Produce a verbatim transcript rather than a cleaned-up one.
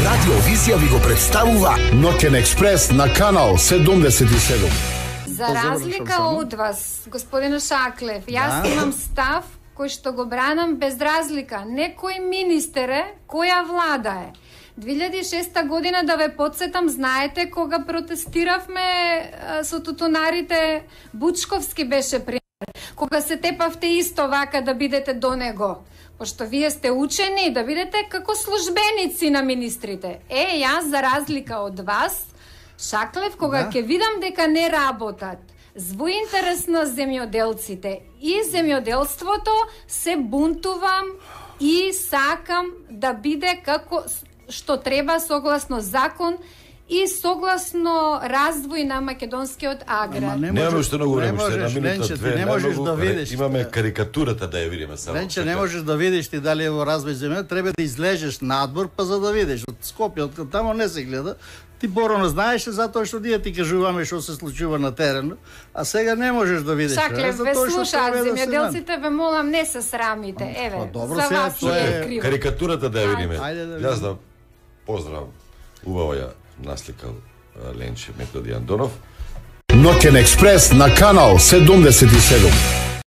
Радио Визија ви го представува Ноќен експрес на канал седумдесет и седум. За разлика од вас, господин Шаклев, јас да. имам став кој што го бранам без разлика. Некој министер е, која влада е. две илјади и шеста година, да ве подсетам, знаете, кога протестиравме со тутунарите, Бучковски беше пример. Кога се тепавте исто вака да бидете до него. Пошто вие сте учени да бидете како службеници на министрите. Е, јас за разлика од вас, Шаклев, кога ќе да. видам дека не работат во интерес на земјоделците и земјоделството, се бунтувам и сакам да биде како што треба согласно закон и согласно развој на македонскиот аграр. Не немаме уште многу време, уште една минута, две, не можеш да видиш. Имаме карикатурата да ја видиме само. Ленче, не можеш да видиш ти дали е во развој земја, треба да излезеш надвор па за да видиш. Од Скопје, од тамо не се гледа. Ти порано знаеш затоа што ние ти кажуваме што се случува на терен, а сега не можеш да видиш. Шаклев, ве слушаат земјоделците, ве молам, не се срамите. Еве, добро, за вас е криво. Карикатурата да ја видиме. Да Јас да поздрав, убаво ја насликал Ленче Методи Андонов. Ноќен експрес на канал седумдесет и седум.